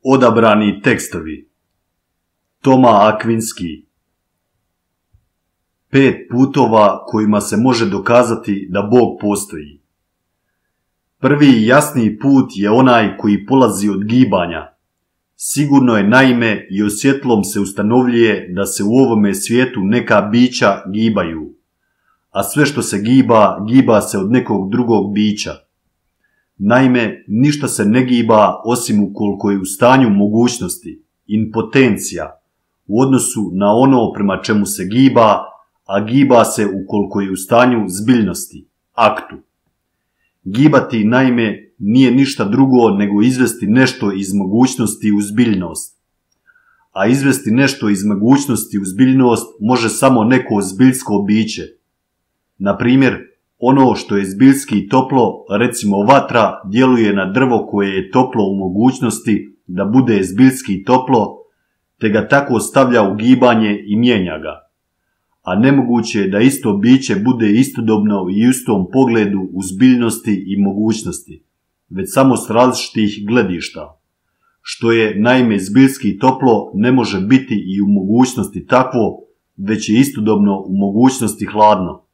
Odabrani tekstovi. Toma Akvinski. 5 putova kojima se može dokazati da Bog postoji. Prvi i jasniji put je onaj koji polazi od gibanja. Sigurno je naime i osjetlom se ustanovljuje da se u ovome svijetu neka bića gibaju, a sve što se giba, giba se od nekog drugog bića. Naime, ništa se ne giba osim ukoliko je u stanju mogućnosti, impotencija, u odnosu na ono prema čemu se giba, a giba se ukoliko je u stanju zbiljnosti, aktu. Gibati, naime, nije ništa drugo nego izvesti nešto iz mogućnosti u zbiljnost. A izvesti nešto iz mogućnosti u zbiljnost može samo neko zbiljsko biće. Na primjer, ono što je zbiljski toplo, recimo vatra, djeluje na drvo koje je toplo u mogućnosti da bude zbiljski toplo, te ga tako stavlja u gibanje i mijenja ga. A nemoguće je da isto biće bude istodobno i u istom pogledu u zbiljnosti i mogućnosti, već samo s različitih gledišta. Što je, naime, zbiljski toplo ne može biti i u mogućnosti takvo, već je istodobno u mogućnosti hladno.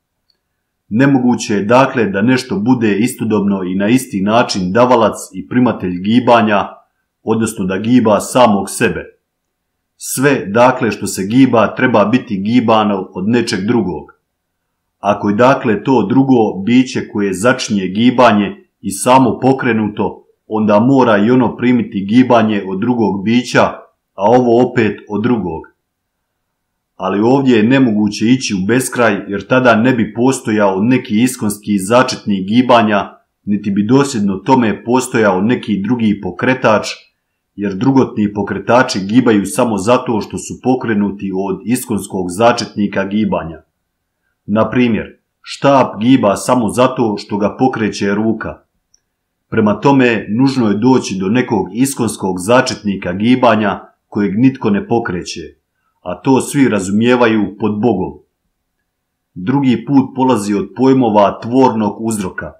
Nemoguće je dakle da nešto bude istodobno i na isti način davalac i primatelj gibanja, odnosno da giba samog sebe. Sve, dakle, što se giba treba biti gibano od nečeg drugog. Ako je dakle to drugo biće koje začinje gibanje i samo pokrenuto, onda mora i ono primiti gibanje od drugog bića, a ovo opet od drugog. Ali ovdje je nemoguće ići u beskraj, jer tada ne bi postojao neki iskonski začetnik gibanja, niti bi dosljedno tome postojao neki drugi pokretač, jer drugotni pokretači gibaju samo zato što su pokrenuti od iskonskog začetnika gibanja. Na primjer, štap giba samo zato što ga pokreće ruka. Prema tome, nužno je doći do nekog iskonskog začetnika gibanja kojeg nitko ne pokreće, a to svi razumijevaju pod Bogom. Drugi put polazi od pojmova tvornog uzroka.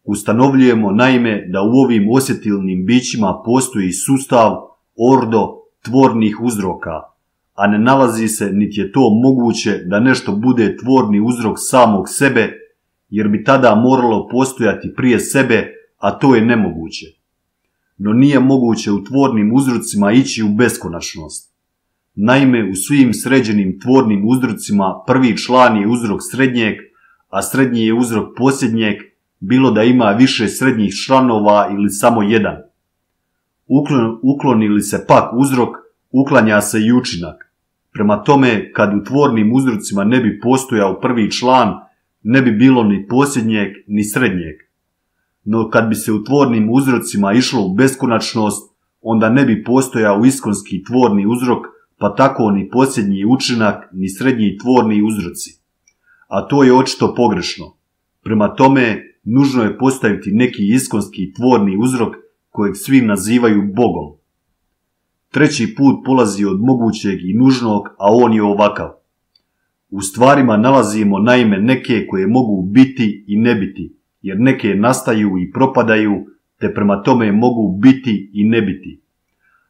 Ustanovljujemo naime da u ovim osjetilnim bićima postoji sustav, ordo, tvornih uzroka, a ne nalazi se niti je to moguće da nešto bude tvorni uzrok samog sebe, jer bi tada moralo postojati prije sebe, a to je nemoguće. No nije moguće u tvornim uzrocima ići u beskonačnost. Naime, u svim sređenim tvornim uzrocima prvi član je uzrok srednjeg, a srednji je uzrok posljednjeg, bilo da ima više srednjih članova ili samo jedan. Ukloni li se pak uzrok, uklanja se i učinak. Prema tome, kad u tvornim uzrocima ne bi postojao prvi član, ne bi bilo ni posljednjeg ni srednjeg. No kad bi se u tvornim uzrocima išlo u beskonačnost, onda ne bi postojao iskonski tvorni uzrok, pa tako ni posljednji učinak, ni srednji tvorni uzroci. A to je očito pogrešno. Prema tome, nužno je postaviti neki iskonski tvorni uzrok kojeg svi nazivaju Bogom. Treći put polazi od mogućeg i nužnog, a on je ovakav. U stvarima nalazimo naime neke koje mogu biti i ne biti, jer neke nastaju i propadaju, te prema tome mogu biti i ne biti.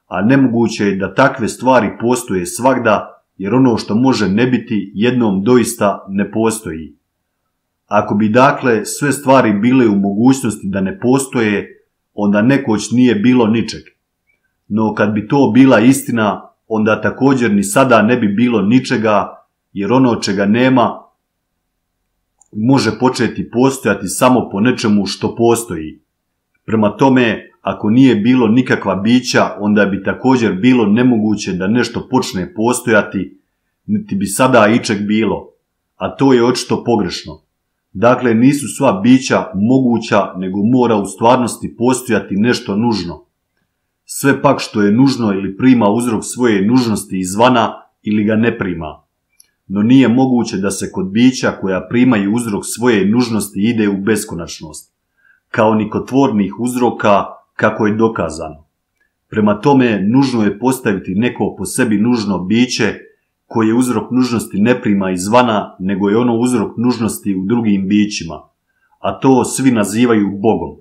A nemoguće je da takve stvari postoje svagda, jer ono što može ne biti jednom doista ne postoji. Ako bi dakle sve stvari bile u mogućnosti da ne postoje, onda nekoć nije bilo ničeg. No kad bi to bila istina, onda također ni sada ne bi bilo ničega, jer ono čega nema može početi postojati samo po nečemu što postoji. Prema tome, ako nije bilo nikakva bića, onda bi također bilo nemoguće da nešto počne postojati, niti bi sada ičeg bilo, a to je očito pogrešno. Dakle, nisu sva bića moguća, nego mora u stvarnosti postojati nešto nužno. Sve pak što je nužno ili prima uzrok svoje nužnosti izvana ili ga ne prima. No nije moguće da se kod bića koja primaju uzrok svoje nužnosti ide u beskonačnost, kao ni kod tvornih uzroka, kako je dokazano. Prema tome, nužno je postaviti neko po sebi nužno biće koje uzrok nužnosti ne prima izvana, nego je ono uzrok nužnosti u drugim bićima, a to svi nazivaju Bogom.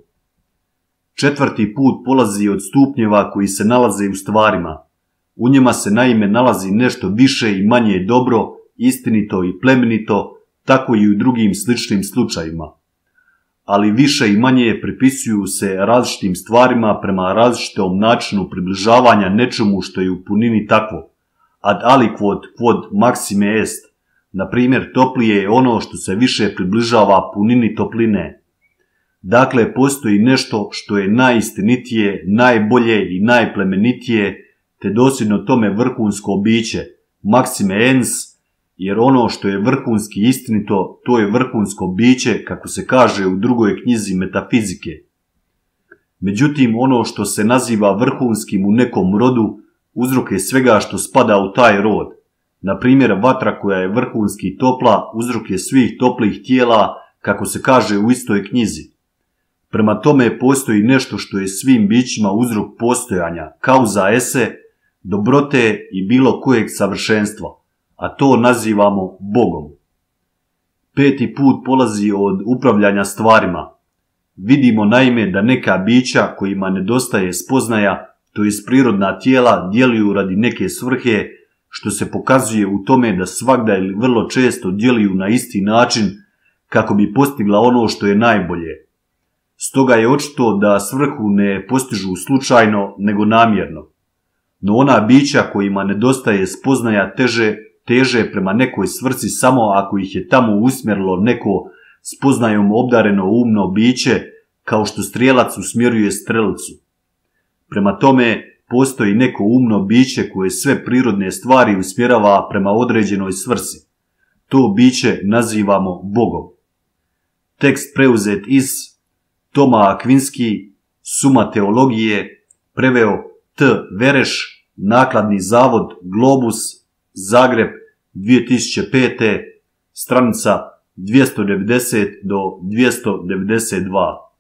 4. put polazi od stupnjeva koji se nalaze u stvarima. U njima se naime nalazi nešto više i manje dobro, istinito i plemenito, tako i u drugim sličnim slučajima. Ali više i manje pripisuju se različitim stvarima prema različitom načinu približavanja nečemu što je u punini takvo. Ad aliquod quod maxime est. Na primjer, toplije je ono što se više približava punini topline. Dakle, postoji nešto što je najistinitije, najbolje i najplemenitije, te dosljedno tome vrhunsko biće, maxime ens, jer ono što je vrhunski istinito, to je vrhunsko biće, kako se kaže u drugoj knjizi metafizike. Međutim, ono što se naziva vrhunskim u nekom rodu, uzrok je svega što spada u taj rod. Na primjer, vatra koja je vrhunski topla, uzrok je svih toplih tijela, kako se kaže u istoj knjizi. Prema tome postoji nešto što je svim bićima uzrok postojanja, causa esse, dobrote i bilo kojeg savršenstva, a to nazivamo Bogom. 5. put polazi od upravljanja stvarima. Vidimo naime da neka bića kojima nedostaje spoznaja, to jest prirodna tijela, djeluju radi neke svrhe, što se pokazuje u tome da svagda ili vrlo često djeluju na isti način kako bi postigla ono što je najbolje. Stoga je očito da svrhu ne postižu slučajno, nego namjerno. No ona bića kojima nedostaje spoznaja teže prema nekoj svrsi samo ako ih je tamo usmjerilo neko spoznajom obdareno umno biće, kao što strijelac usmjeruje strelicu. Prema tome, postoji neko umno biće koje sve prirodne stvari usmjerava prema određenoj svrsi. To biće nazivamo Bogom. Tekst preuzet iz Toma Akvinski, Suma teologije, preveo T. Vereš, nakladni zavod Globus, Zagreb, 2005. stranica 290 do 292.